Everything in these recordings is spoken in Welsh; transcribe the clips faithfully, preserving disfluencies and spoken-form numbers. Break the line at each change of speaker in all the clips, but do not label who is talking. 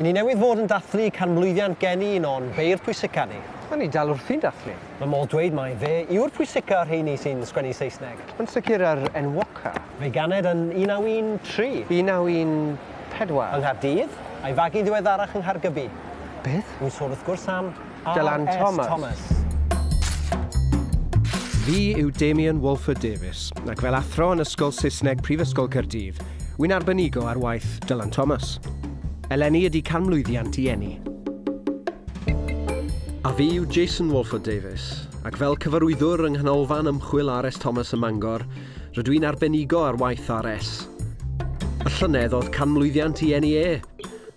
I ni newydd fod yn dathlu canmlwyddiant geni un o'n beirdd pwysica ni.
Mae ni dal wrthi'n dathlu.
Mae modd dweud mai fe yw'r pwysica o'r rheini sy'n sgwennu Saesneg.
Yn sicr yr enwoca.
Fe ganed yn un naw un tri.
un naw un pedwar.
Yng Nghaerdydd, a'i fagu ddiweddarach yng Nghaergybi.
Beth?
Wy'n sôn wrth gwrs am
Dylan
R S
Thomas.
Thomas.
Fi yw Damian Walford Davies, ac fel athro yn Ysgol Saesneg Prifysgol Caerdydd, wy'n arbenigo ar waith Dylan Thomas. Eleni ydy canmlwyddiant i eni.
A fi yw Jason Walford Davies, ac fel cyfarwyddwr yng Nghanolfan Ymchwil R S Thomas ym Mangor, rydw i'n arbenigo ar waith R S. Y llynedd oedd canmlwyddiant i eni e,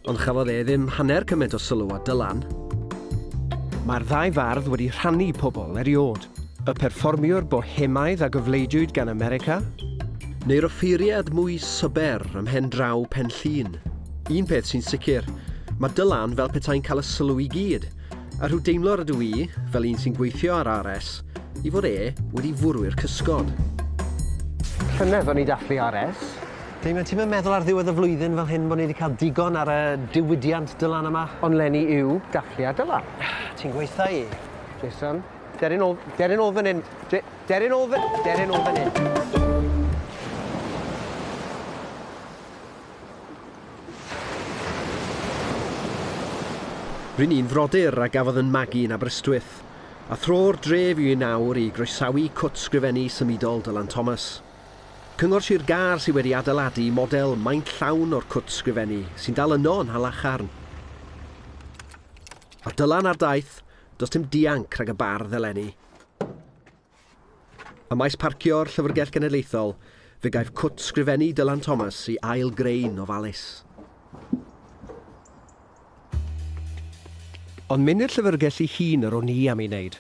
ond chafodd e ddim hanner cymaint o sylw a Dylan.
Mae'r ddau fardd wedi rhannu pobl eriod. Y perfformiwr bohemaidd a gyfleidiwyd gan America,
neu'r offeiriad mwy syber ym mhen draw Pen Llŷn. Un peth sy'n sicr, mae Dylan fel petai'n cael y sylw i gyd, a rhyw deimlo rydw i, fel un sy'n gweithio ar R S, i fod e wedi fwrw'r cysgod.
Llynedd o'n i dathlu R S.
Damien, ti'n meddwl ar ddiwedd y flwyddyn fel hyn bod ni wedi cael digon ar y diwydiant Dylan yma?
Ond leni yw dathliad Dylan.
Ti'n gweitha i?
Jason, derin ôl, derin ôl fan hyn. Derin ôl fan, derin ôl fan hyn.
Rwy'n un frodyr a gafodd yn magu yn Aberystwyth, a thro'r dref yw i nawr i groesawu cwt sgrifennu symudol Dylan Thomas. Cyngor Sir Gâr sydd wedi adeiladu model maint llawn o'r cwt sgrifennu sy'n dal yno yn Nhalacharn. A Dylan ar daith, does dim dianc rhag y bardd eleni. Ym maes parcio'r Llyfrgell Genedlaethol, fe gaiff cwt sgrifennu Dylan Thomas i ail greu'n ofalus.
Ond mynd i'r llyfrgell ei hun yr o'n i am ei wneud.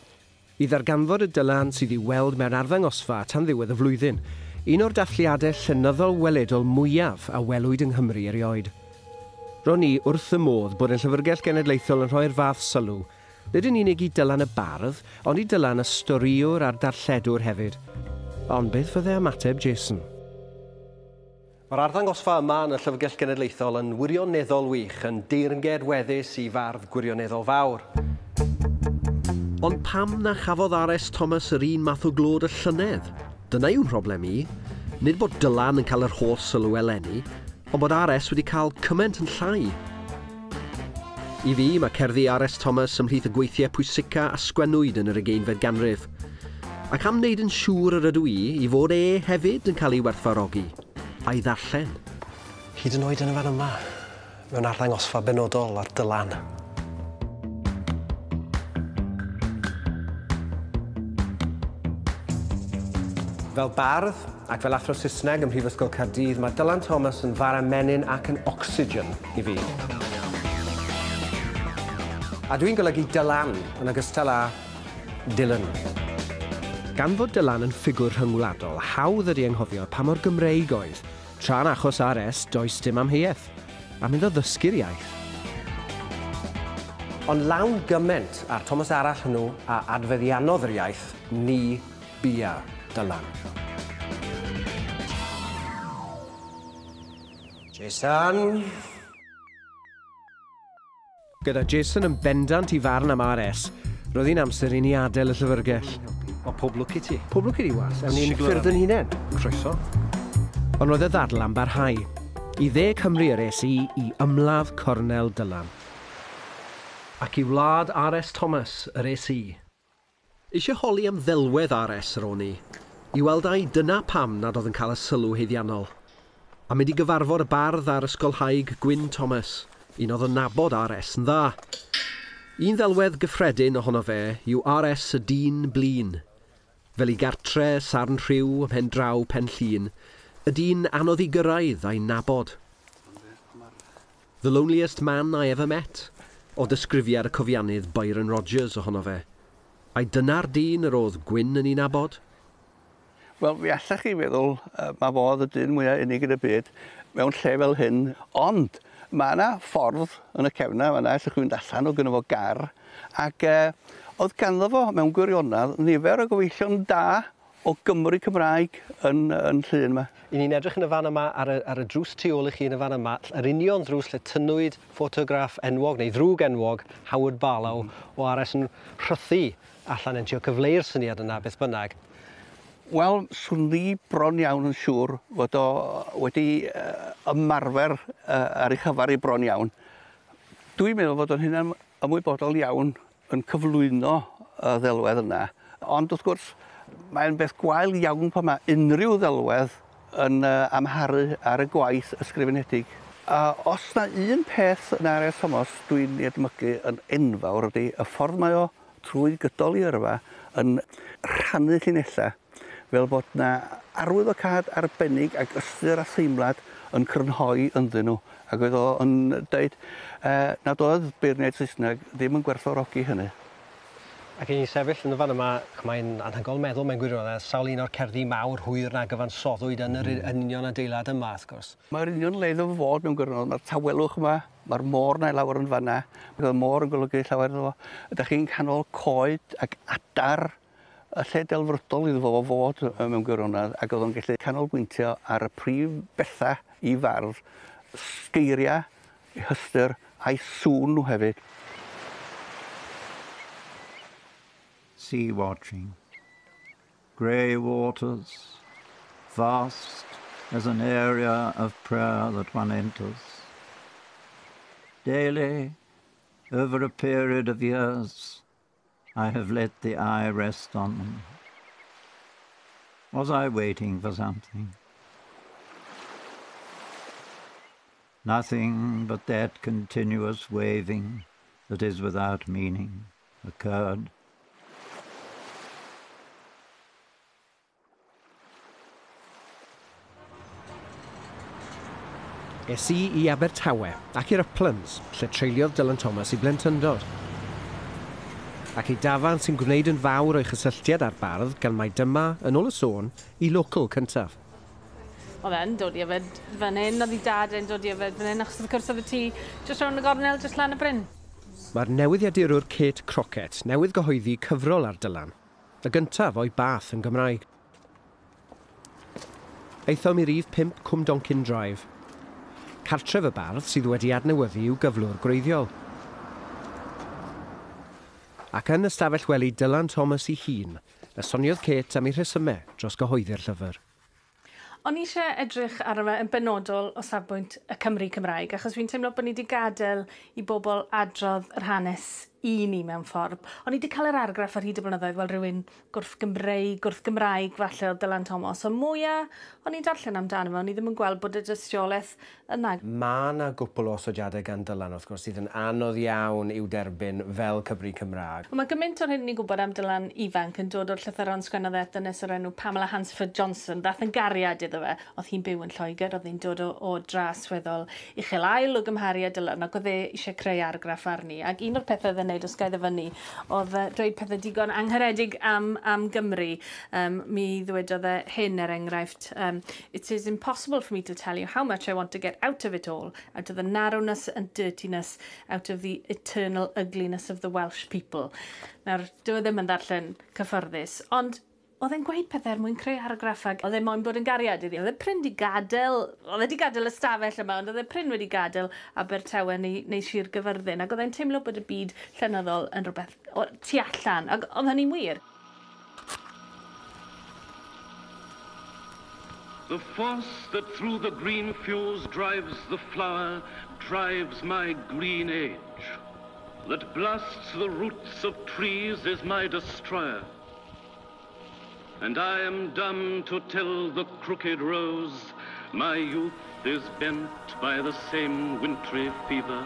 I ddarganfod y Dylan sydd i'w weld mewn arddangosfa tan ddiwedd y flwyddyn, un o'r dathliadau llenyddol weledol mwyaf a welwyd yng Nghymru erioed. Ro'n i wrth y modd bod y Llyfrgell Genedlaethol yn rhoi'r fath sylw, nid yn unig i Dylan y bardd, ond i Dylan y storïwr a'r darlledwr hefyd. Ond beth fydde ymateb Jason?
Mae'r arddangosfa yma yn y Llyfrgell Genedlaethol yn wirioneddol wych, yn deyrnged weddus i fardd gwirioneddol fawr. Ond pam na chafodd R S Thomas yr un math o glod y llynedd? Dyna yw'n mhroblem i. Nid bod Dylan yn cael yr holl sylw eleni, ond bod R S wedi cael cymaint yn llai. I fi, mae cerddi R S Thomas ymhlith y gweithiau pwysica a sgwennwyd yn yr ugeinfed ganrif. Ac am wneud yn siŵr yr ydw i i fod e hefyd yn cael ei werthfawrogi, a'i ddarllen.
Hyd yn oed yn y fan yma, mewn arddangosfa benodol ar Dylan.
Fel bardd ac fel athro Saesneg ym Mhrifysgol Caerdydd, mae Dylan Thomas yn fara menyn ac yn ocsigen i fi. A dwi'n golygu Dylan yn ogystal â Dylan. Gan fod Dylan yn ffigwr rhyngwladol, hawdd ydi anghofio pa mor Gymreig oedd. Tra'n achos R S, does dim amheuaeth, a mynd o ddysgu'r iaith. Ond lawn gyment a'r Thomas arall hwnnw a adfeddiannodd yr iaith, ni bia Dylan. Jason! Gyda Jason yn bendant i farn am R S, roedd hi'n amser i ni adael y llyfrgell.
Wel, pob lwc i ti.
Pob lwc i ti, was. Ewn ni'n
Siglo
ffyrdd yn
arni.
hunain.
Croeso.
Ond roedd y ddadl am barhau. I dde Cymru yr es i i ymladd Cornel Dylan.
Ac i wlad R S Thomas yr es i. Eisiau holi am ddelwedd R S yr o'n i, i weld ai dyna pam nad oedd yn cael y sylw haeddiannol. A mynd i gyfarfod y bardd a'r ysgolhaig Gwyn Thomas, un oedd yn nabod R S yn dda. Un ddelwedd gyffredin ohono fe yw R S y dyn blin. Fel i gartre, sarn rhyw, ym mhen draw Pen Llŷn, y dyn anodd i gyrraedd a'i nabod. The loneliest man I ever met, o ddisgrifiad y cofiannydd Byron Rogers ohono fe. Ai dyna'r dyn yr oedd Gwyn yn ei nabod?
Wel, fi allach chi feddwl, uh, mae fo oedd y dyn mwyaf unig yn y byd mewn lle fel hyn, ond mae yna ffordd yn y cefn yna, allwch chi fynd allan o gynno fo gar, ac uh, oedd ganddo fo mewn gwirionedd nifer o gyfeillion da o Gymru Cymraeg yn, yn Llŷn yma.
I ni'n edrych yn y fan yma ar y, ar y drws tu ôl i chi yn y fan yma, yr union ddrws lle tynnwyd ffotograff enwog neu ddrwg enwog Howard Barlow mm. o R S yn rhythu allan yn trio cyfleu'r syniad yna beth bynnag.
Wel, swn i bron iawn yn siŵr fod o wedi uh, ymarfer uh, ar ei chyfar i bron iawn. Dwi'n meddwl fod o'n hynna'n ymwybodol iawn yn cyflwyno y ddelwedd yna. Ond wrth gwrs, mae'n beth gwael iawn pan mae unrhyw ddelwedd yn uh, amharu ar y gwaith ysgrifenedig. Uh, os na un peth yn R S Thomas dwi'n ei edmygu yn enfawr ydy y ffordd mae o trwy gydol ei yrfa yn rhannu llinellau fel bod na arwyddocâd arbennig ac ystyr a theimlad yn crynhoi ynddyn nhw. Ac oedd o yn dweud uh, nad oedd beirniaid Saesneg ddim yn gwerthfawrogi hynny.
Ac i ni sefyll yn y fan yma, mae'n anhygoel meddwl mewn gwirionedd, sawl un o'r cerddi mawr hwyr na gyfansoddwyd yn yr mm. union adeilad yma, wrth gwrs.
Mae'r union le iddo fod mewn gwirionedd, mae'r tawelwch yma, mae'r môr na i lawr yn fanna, mae'r môr yn golygu llawer iddo fo. Ydych chi'n canol coed ac adar, y lle delfrydol iddo fo fod mewn gwirionedd, ac oedd o'n gallu canolbwyntio ar y prif bethau i fardd, sgeiriau, eu hystyr a'i sŵn nhw hefyd.
Sea watching, grey waters, vast as an area of prayer that one enters. Daily, over a period of years, I have let the eye rest on them. Was I waiting for something? Nothing but that continuous waving that is without meaning occurred.
Es i i Abertawe ac i'r Uplands, lle treuliodd Dylan Thomas i blentyndod. Ac i dafarn sy'n gwneud yn fawr o'i chysylltiad â'r bardd gan mai dyma, yn ôl y sôn, i local cyntaf.
Oedd e'n dod i yfed fan hyn, oedd ei dad e'n dod i yfed fan hyn, achos wrth gwrs oedd y tŷ jyst rownd y gornel, jyst lan y bryn.
Mae'r newyddiadurwr Kate Crockett newydd gyhoeddi cyfrol ar Dylan, y gyntaf o'i bath yn Gymraeg. Aethom i rif pump Cwmdonkin Drive, cartref y bardd sydd wedi adnewyddu i'w gyflwr gwreiddiol. Ac yn ystafell wely Dylan Thomas ei hun, y soniodd Kate am ei rhesymau dros gyhoeddi'r llyfr.
O'n i eisiau edrych arno fe yn benodol o safbwynt y Cymry Cymraeg, achos fi'n teimlo bod ni wedi gadael i bobl adrodd yr hanes i ni mewn ffordd. O'n i wedi cael yr argraff ar hyd y blynyddoedd fel rhywun gwrth-Gymreig, gwrth-Gymraeg falle o Dylan Thomas. Ond mwyaf o'n i'n darllen amdano fe, o'n i ddim yn gweld bod y dystiolaeth yna.
Mae yna gwpl o osodiadau gan Dylan, wrth gwrs, sydd yn anodd iawn i'w derbyn fel Cymry Cymraeg.
Ond mae gymaint o'r hyn ni'n gwybod am Dylan ifanc yn dod o'r llythyron sgwennodd e dynes o'r enw Pamela Hansford Johnson, ddath yn gariad iddo fe. Oedd hi'n byw yn Lloegr, oedd hi'n dod o, o dras weddol uchel ail o gymharu â Dylan, ac oedd e eisiau creu argraff arni. Ac un o'r pethau oedd e'n wneud os gael ddyfynnu, oedd dweud pethau digon angharedig am, am Gymru. Um, mi ddwedodd e hyn er enghraifft, um, "It is impossible for me to tell you how much I want to get out of it all, out of the narrowness and dirtiness, out of the eternal ugliness of the Welsh people." Nawr, dyw e ddim yn ddarllen cyfforddus, ond oedd e'n gweud pethau er mwyn creu argraff ac oedd e moyn bod yn gariad iddi. Oedd e prin di gadael, oedd e di gadael y stafell yma, ond oedd e prin wedi gadael Abertawe neu, neu Sir Gyfyrddin, ac oedd e'n teimlo bod y byd llenyddol yn rhywbeth o, tu allan, ac oedd hynny'n wir.
The force that through the green fuse drives the flower, drives my green age. That blasts the roots of trees is my destroyer. And I am dumb to tell the crooked rose my youth is bent by the same wintry fever.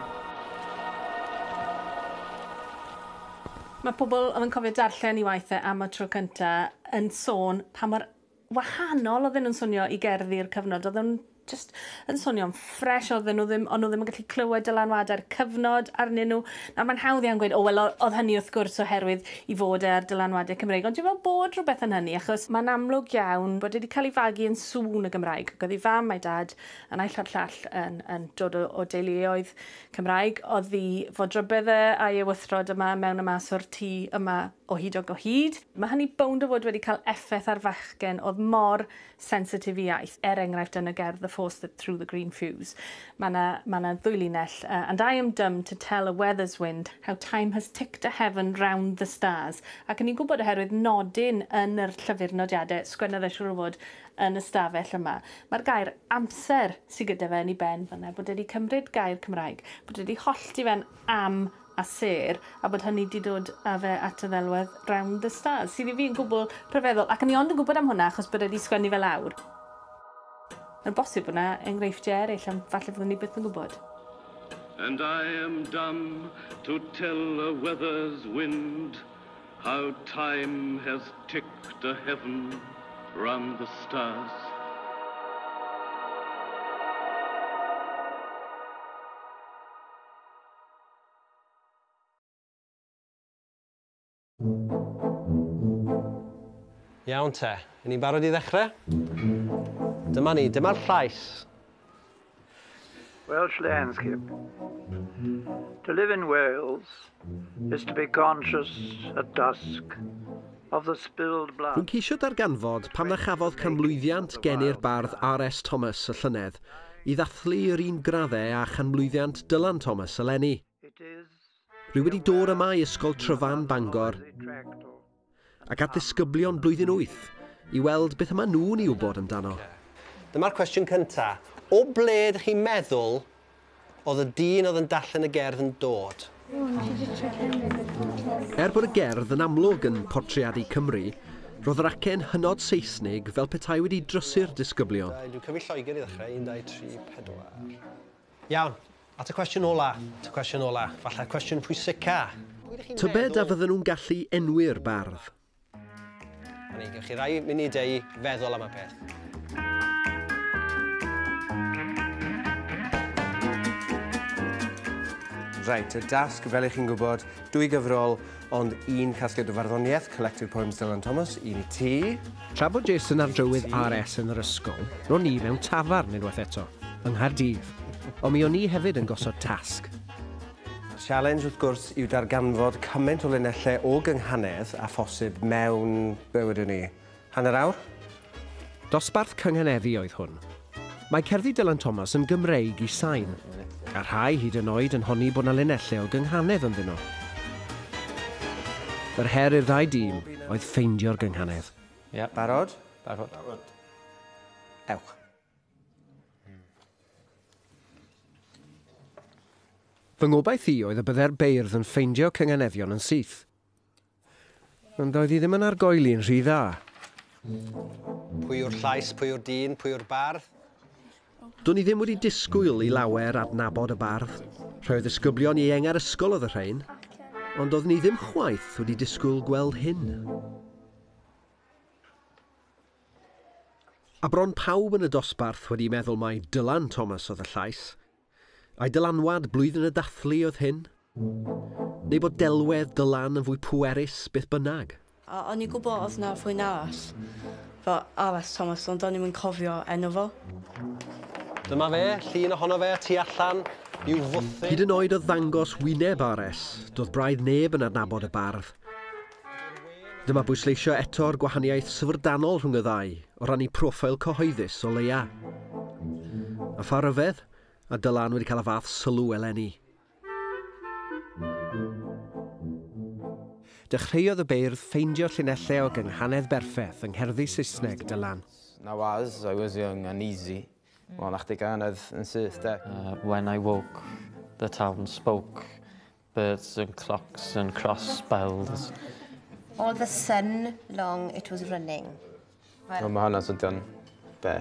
Mae pobl oedd yn cofio darllen i waithau am y tro cyntaf yn sôn pa mor wahanol oedden nhw'n swnio i gerddi'r cyfnod. Oedden nhw'n just yn swnio'n ffres, oedden nhw ddim, ond nhw ddim yn gallu clywed dylanwadau'r cyfnod arnyn nhw. Nawr mae'n hawdd iawn gweud, o wel, oedd hynny wrth gwrs oherwydd i fod e ar dylanwadau Cymreig, ond dwi'n meddwl bod rhywbeth yn hynny, achos mae'n amlwg iawn bod wedi cael ei fagu yn sŵn y Gymraeg. Ac oedd ei fam a'i dad yn naill a'r llall yn, yn dod o, o deuluoedd Cymraeg. Oedd hi fodrybedd e a'i ewythrod yma mewn y mas o'r tŷ yma o hyd o hyd. Mae hynny bownd o fod wedi cael effaith ar fachgen oedd mor sensitif i iaith. Er enghraifft yn y gerdd The Force That Through the Green Fuse. Mae yna ma na ddwy linell. Uh, and I am dumb to tell a weather's wind how time has ticked a heaven round the stars. Ac yn i'n gwybod oherwydd nodyn yn yr llyfr nodiadau, sgwennodd e siŵr o fod yn y stafell yma. Mae'r gair amser sydd gyda fe yn ei ben fan'na, bod wedi cymryd gair Cymraeg, bod wedi hollti fe'n am a sêr, a bod hynny wedi dod â fe at y ddelwedd Round the Stars, sydd i fi yn gwbl rhyfeddol. Ac o'n i ond yn gwybod am hwnna achos bod wedi sgwennu fe lawr. Mae'n bosib bod yna enghreifftiau eraill, am falle fyddwn ni byth yn gwybod.
And I am dumb to tell a weather's wind how time has ticked a heaven round the stars.
Iawn te, 'yn ni'n barod i ddechrau? Dyma ni, dyma'r llais.
Welsh landscape. To live in Wales is to be conscious at dusk of the spilled blood.
Rwy'n ceisio darganfod pam na chafodd canmlwyddiant geni'r bardd R S Thomas y llynedd i ddathlu yr un graddau â chanmlwyddiant Dylan Thomas eleni. Rwy wedi dod yma i Ysgol Tryfan Bangor ac at ddisgyblion blwyddyn wyth i weld beth yma nhw'n ei wybod amdano.
Dyma'r cwestiwn cynta. O ble ydych chi'n meddwl oedd y dyn oedd yn darllen y gerdd yn dod?
Er bod y gerdd yn amlwg yn portreadu Cymru, roedd yr acen hynod Saesnig fel petai wedi drysu'r disgyblion.
Dwi'n cyfri Lloegr i ddechrau. Un, dau, tri, pedwar. Iawn, at y cwestiwn ola. At y cwestiwn ola. Falle'r cwestiwn pwysica.
Tybed a fydden nhw'n gallu enwi'r bardd?
Ni, gewch chi rai munudau i feddwl am y peth.
Reit, y dasg, fel ych chi'n gwybod, dwy gyfrol, ond un casgliad o farddoniaeth, Collected Poems Dylan Thomas, un i ti.
Tra bod Jason ar drywydd R S yn yr ysgol, ro'n i mewn tafarn unwaith eto, yng Nghaerdydd. Ond mi o'n i hefyd yn gosod tasg.
Challenge, wrth gwrs, yw darganfod cymaint o linellau o gynghanedd a phosib mewn, be wedwn ni, hanner awr?
Dosbarth cynghaneddu oedd hwn. Mae cerddi Dylan Thomas yn Gymreig i sain, a rhai hyd yn oed yn honni bod 'na linellau o gynghanedd ynddyn nhw. Yr her i'r ddau dîm oedd ffeindio'r gynghanedd.
Ie, barod? Barod. Barod. Ewch.
Fy ngobaith i oedd y bydde'r beirdd yn ffeindio cynganeddion yn syth. Ond oedd hi ddim yn argoeli'n rhy dda.
Pwy yw'r llais, pwy yw'r dyn, pwy yw'r bardd?
Do'n i ddim wedi disgwyl i lawer adnabod y bardd. Rhai o ddisgyblion ieuenga'r ysgol oedd y rhain, ond oeddwn i ddim chwaith wedi disgwyl gweld hyn. A bron pawb yn y dosbarth wedi meddwl mai Dylan Thomas oedd y llais. A'i dylanwad blwyddyn y dathlu oedd hyn? Neu bod delwedd Dylan yn fwy pwerus beth bynnag?
A o'n i'n gwybod oedd 'na rhywun arall, fel R S Thomas, ond o'n i'm yn cofio enw fo.
Dyma fe, llun ohono fe, tu allan, i'w fwthyn.
Hyd yn oed o ddangos wyneb R S, doedd braidd neb yn adnabod y bardd. Dyma bwysleisio eto'r gwahaniaeth syfrdanol rhwng y ddau, o ran eu proffil cyhoeddus o leia. A pha ryfedd, a Dylan wedi cael y fath sylw eleni. Dechreuodd y beirdd ffeindio llinellau o gynghanedd berffeth yng ngherddi Saesneg Dylan.
Now as I was young and easy, well, nach di ganedd yn syth, de.
Uh, when I woke, the town spoke, birds and clocks and cross bells.
All the sun long it was running.
Well, mae hwnna'n swnio'n be?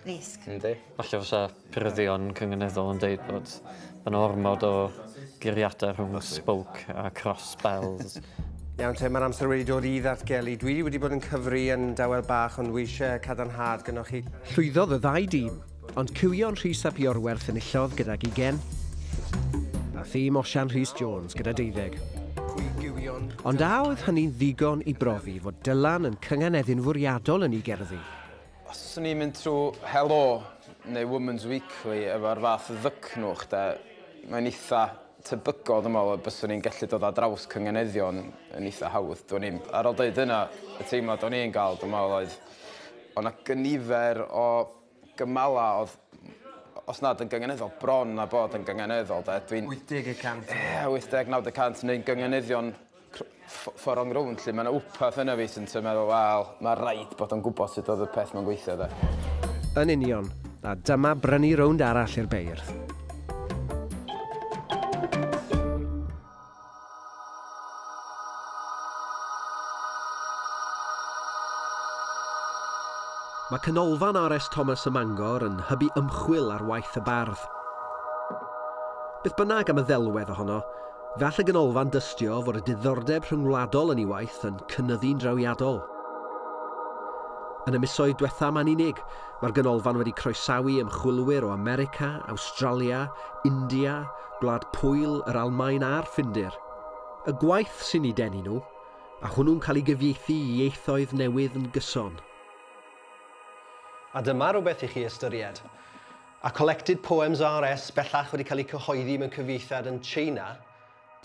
Risg.
Yndi.
Falle fysa pyryddion cynganeddol yn deud bod yna ormod o guriadau rhwng spoke a cross bells.
Iawn te, mae'r amser wedi dod i ddatgelu. Dwi wedi bod yn cyfri yn dawel bach, ond wi eisiau cadarnhad gynnoch chi.
Llwyddodd y ddau dîm, ond Cywion Rhys ap Iorwerth enillodd gydag ugain, a thîm Osian Rhys Jones gyda deuddeg. Ond a oedd hynny'n ddigon i brofi fod Dylan yn cynganeddu'n fwriadol yn ei gerddi?
Os o'n i'n mynd trwy Helo neu Woman's Weekly efo'r fath ddycnwch, de, mae'n eitha tebygol, dwi'n meddwl, byswn i'n gallu dod ar draws cynganeddion yn eitha hawdd. Dwi'n i'n, ar ôl dweud yna, y teimlad o'n i'n gael, dwi'n meddwl, oedd o'na gynifer o gymala oedd, os nad yn gynganeddol, bron a bod yn gynganeddol. Dwi'n
wyth deg y cant.
Ie, wyth deg, naw deg cant, neu'n gynganeddion ffordd o'n rownd, lle mae yna wpath yna fi sy'n meddwl, wel, mae rhaid bod o'n gwybod sut oedd y peth mae'n gweithio, de.
Yn union, a dyma brynu rownd arall i'r beirdd. Mae Canolfan R S Thomas ym Mangor yn hybu ymchwil ar waith y bardd. Beth bynnag am y ddelwedd ohono, fe all y ganolfan dystio fod y diddordeb rhyngwladol yn ei waith yn cynyddu'n drawiadol. Yn y misoedd diwetha ma'n unig, mae'r ganolfan wedi croesawu ymchwilwyr o America, Awstralia, India, Gwlad Pwyl, yr Almaen a'r Ffindir. Y gwaith sy'n ei denu nhw, a hwnnw'n cael ei gyfieithu i ieithoedd newydd yn gyson.
A dyma rhywbeth i chi ystyried. A Collected Poems R S bellach wedi cael eu cyhoeddi mewn cyfieithiad yn China,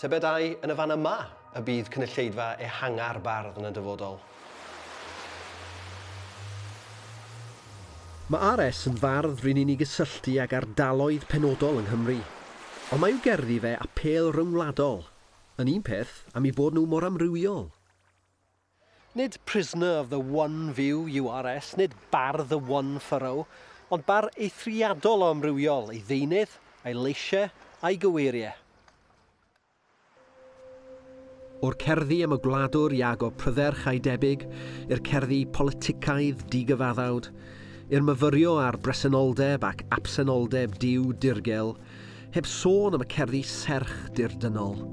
tybed ai yn y fan yma y bydd cynulleidfa ehanga'r bardd yn y dyfodol.
Mae R S yn fardd rydyn ni'n ei gysylltu ag ardaloedd penodol yng Nghymru. Ond mae i'w gerddi fe apêl ryngwladol, yn un peth am eu bod nhw mor amrywiol.
Nid prisoner of the one view U R S, nid bardd the one furrow, ond bar eithriadol o amrywiol ei ddeunydd, ei leisiau a'i gyweiriau.
O'r cerddi am y gwladwr Iago Prydderch a'i debyg, i'r cerddi politicaidd digyfaddawd, i'r myfyrio ar bresenoldeb ac absenoldeb diw dirgel, heb sôn am y cerddi serch dirdynnol.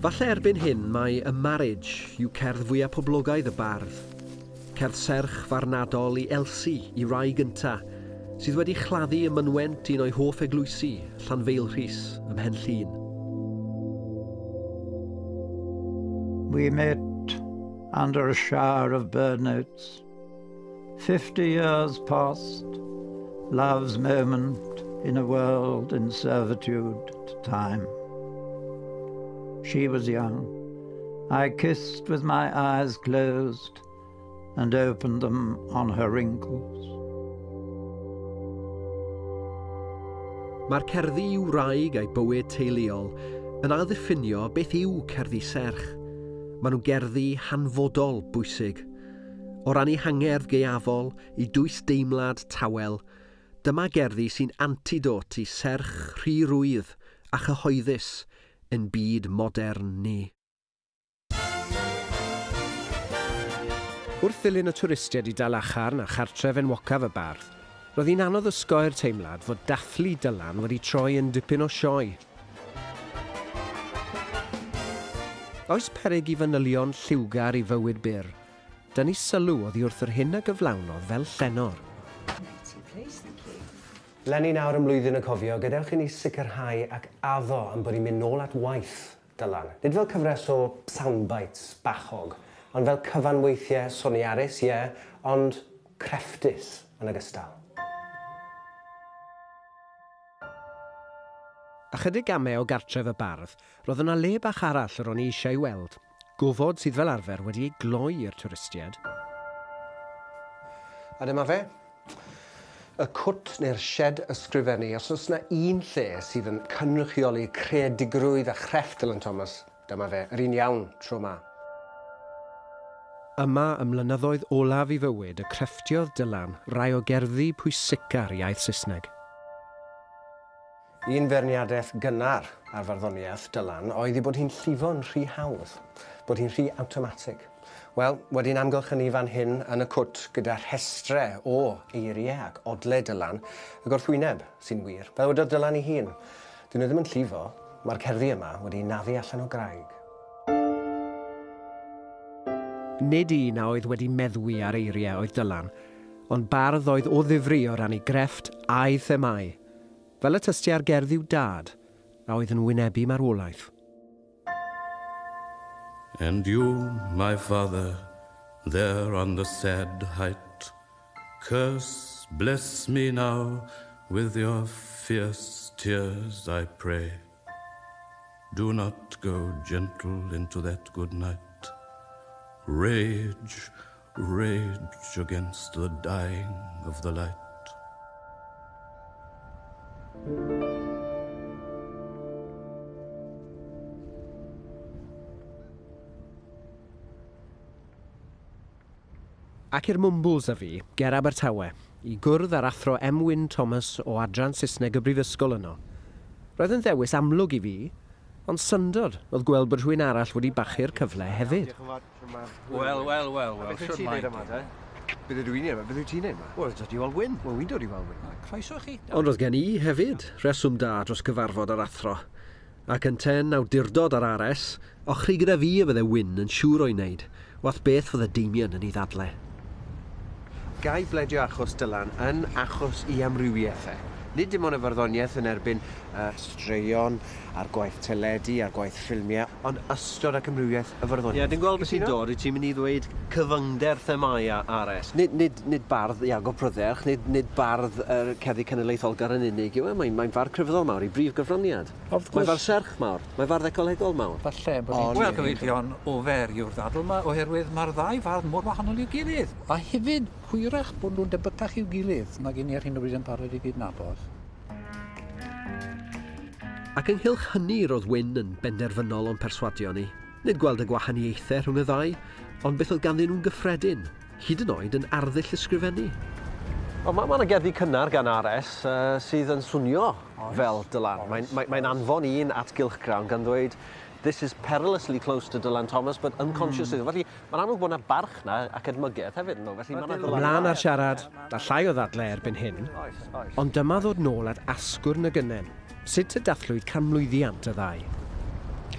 Falle erbyn hyn mae A Marriage yw cerdd fwyaf poblogaidd y bardd. Cerdd serch farnadol i Elsie, i rai gynta, sydd wedi chladdu ym mynwent un o'i hoff eglwysi, Llanfeilrhys, ym Mhen Llŷn.
We met under a shower of bird notes. Fifty years past, love's moment in a world in servitude to time. She was young. I kissed with my eyes closed and opened them on her wrinkles.
Mae'r cerddi i'w wraig a'i bywyd teuluol yn ailddiffinio beth yw cerddi serch. Maen nhw gerddi hanfodol bwysig. O ran ei hangerdd gaeafol, i dwys deimlad tawel, dyma gerddi sy'n antidot i serch rhy rwydd a chyhoeddus yn byd modern ni. Wrth ddilyn y twristiaid i Dalacharn a chartref enwocaf y bardd, roedd hi'n anodd osgoi'r teimlad fod dathlu Dylan wedi troi yn dipyn o sioe. Oes peryg i fanylion lliwgar i fywyd byr, dynnu sylw oddi wrth yr hyn a gyflawnodd fel llenor.
Leni nawr ym mlwyddyn y cofio, gadewch i ni sicrhau ac addo am bod ni'n mynd nôl at waith Dylan. Nid fel cyfres o soundbites bachog, ond fel cyfanweithiau soniarus, ie, ond crefftus yn ogystal.
Ychydig gamau o gartref y bardd, roedd yna le bach arall yr o'n i eisiau weld, gofod sydd fel arfer wedi ei gloi i'r twristiaid.
A dyma fe. Y cwt neu'r shed ysgrifennu, os oes yna un lle sydd yn cynrychioli creadigrwydd a chrefft Dylan Thomas, dyma fe, yr un iawn tro ma.
Yma ym mlynyddoedd olaf i fywyd y crefftiodd Dylan rai o gerddi pwysica'r iaith Saesneg.
Un feirniadaeth gynnar ar farddoniaeth Dylan oedd ei bod hi'n llifo'n rhy hawdd, bod hi'n rhy awtomatig. Wel, wedi'n amgylchynu fan hyn yn y cwt gyda rhestre o eiriau ac odle Dylan, y gorthwyneb sy'n wir, fel wedodd Dylan ei hun. Dyn nhw ddim yn llifo, mae'r cerddi yma wedi naddu allan o graig.
Nid un a oedd wedi meddwi ar eiriau oedd Dylan, ond bardd oedd o ddifri o ran ei grefft a'i themâu, fel y tystia ar gerdd i'w dad, a oedd yn wynebu marwolaeth.
And you, my father, there on the sad height, curse, bless me now with your fierce tears, I pray. Do not go gentle into that good night. Rage, rage against the dying of the light.
Ac i'r Mwmbwls a fi, ger Abertawe, i gwrdd â'r athro M. Wyn Thomas o adran Saesneg y Brifysgol yno. Roedd yn ddewis amlwg i fi, ond syndod oedd gweld bod rhywun arall wedi bachu'r cyfle hefyd.
Wel, wel, wel, wel,
Beth wyt ti'n neud yma, te? Beth ydw i'n neud yma? Beth wyt ti'n neud yma? Wel, dod i weld Wyn. Wel, wy'n dod i weld Wyn.
Croeso chi.
Ond oedd gen i hefyd reswm da dros gyfarfod yr athro. Ac yn ten awdurdod ar R S, ochri gyda fi y fydde Wyn yn siŵr o'i wneud, wath beth fydde Damien yn ei ddadle.
Gai bledio achos Dylan yn achos i amrywiaethau. Nid dim ond y farddoniaeth yn erbyn uh, straeon a'r gwaith teledu a'r gwaith ffilmiau, ond ystod ac amrywiaeth y farddoniaeth.
Ie, yeah, dwi'n gweld beth sy'n dod, wyt ti'n mynd i ddweud cyfyngder themâu R S. Nid, nid, nid bardd Iago Prydderch, nid, nid bardd yr cerddi cenedlaetholgar yn unig yw e, mae'n mae fardd crefyddol mawr i brif gyfraniad. Mae'n fardd serch mawr, mae'n fardd ecolegol mawr.
Falle bod ni'n... Wel, gyfeillion, ofer yw'r ddadl yma, oherwydd mae'r ddau fardd mor wahanol i'w gilydd. A hefyd, hwyrach bod nhw'n debycach i'w gilydd nag i ni ar hyn o bryd yn barod i gydnabod.
Ac ynghylch hynny roedd Wyn yn benderfynol o'n perswadio ni. Nid gweld y gwahaniaethau rhwng y ddau, ond beth oedd ganddyn nhw'n gyffredin, hyd yn oed yn arddull ysgrifennu. Wel, mae yna gerddi cynnar gan R S uh, sydd yn swnio oes, fel Dylan. Mae'n mae, mae anfon un at gylchgrawn gan ddweud this is perilously close to Dylan Thomas, but unconsciously. Mm. Felly, mae'n amlwg bod yna barch na ac edmygedd hefyd. No? Felly, ma'
Ymlaen ar siarad, a llai o ddadle erbyn hyn, oes, oes. Ond dyma ddod nôl at asgwrn y gynnen. Sut y dathlwyd canmlwyddiant y ddau?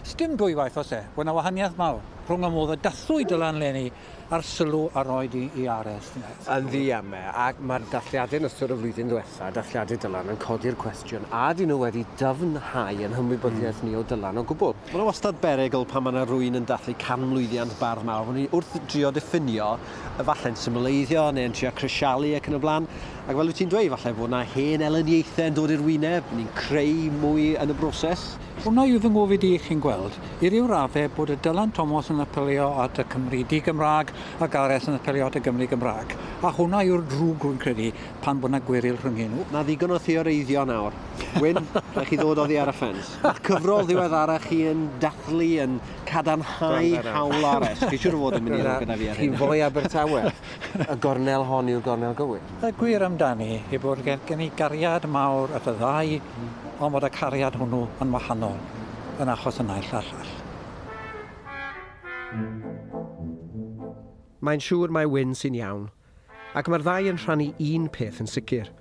Sdim dwywaith oes e, bod yna wahaniaeth mawr rhwng y modd y dathlwyd Dylan leni a'r sylw a roed i, i R S.
Yn ddiamau, ac mae'r dathliadau yn ystod y flwyddyn ddiwetha, dathliadau Dylan yn codi'r cwestiwn, a dyn nhw wedi dyfnhau yn hymwybyddiaeth mm. ni o Dylan o gwbl.
Mae'n wastad berygl pan mae yna rhywun yn dathlu canmlwyddiant bardd mawr. Maen nhw wrth drio diffinio, falle'n symleiddio neu'n trio crisialu ac yn y blaen. Ac fel wyt ti'n dweud, falle bod yna hen elyniaethau yn dod i'r wyneb, ni'n creu mwy yn y broses.
Hwna yw fy ngofid i chi'n gweld, i ryw raddau bod y Dylan Thomas yn apelio at y Cymru di-Gymraeg ac R S yn apelio at y Gymru Gymraeg. A hwnna yw'r drwg rwy'n credu pan bod yna gweryl rhwng nhw.
Na ddigon o theoreiddio nawr. Wyn, rhaid chi ddod oddi ar y ffens. Mae'ch cyfrol ddiweddara chi yn dathlu, yn cadarnhau hawl R S. Chi siŵr o fod yn mynd i ddod gyda fi ar hyn.
Chi'n foi Abertawe. Y gornel hon yw'r gornel gywir.
Y gwir amdani yw bod gen, gen i gariad mawr at y ddau, ond bod y cariad hwnnw yn wahanol yn achos y naill a'r llall.
Mae'n siŵr mai Wyn sy'n iawn, ac mae'r ddau yn rhannu un peth yn sicr.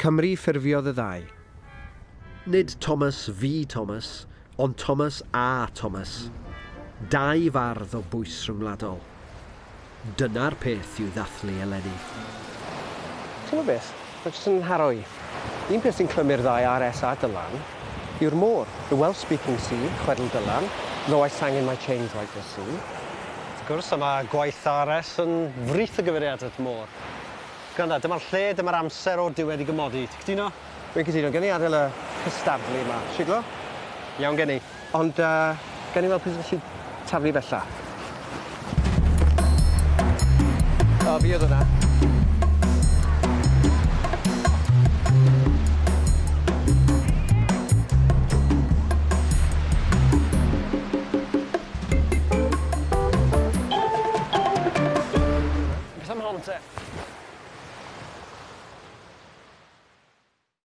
Cymru ffurfiodd y ddau.
Nid Thomas V Thomas, ond Thomas A Thomas. Dau fardd o bwys rhyngwladol. Dyna'r peth i'w ddathlu eleni.
Ti'n gwybod beth? Mae jyst yn haro i. Un peth sy'n clymu'r ddau R S a Dylan yw'r môr. The Welsh-speaking sea, chwedl Dylan, though I sang in my chains like the sea.
Wrth gwrs, mae gwaith R S yn frith o gyfeiriad at môr. Gwranda, dyma'r lle, dyma'r amser o'r diwedd i gymodi. Ti'n cytuno?
Dwi'n cytuno. Gen i adael y cystadlu yma. Siglo?
Iawn gen i.
Ond uh, gen i weld pwy sy'n gallu taflu bella. O, fi oedd hwnna.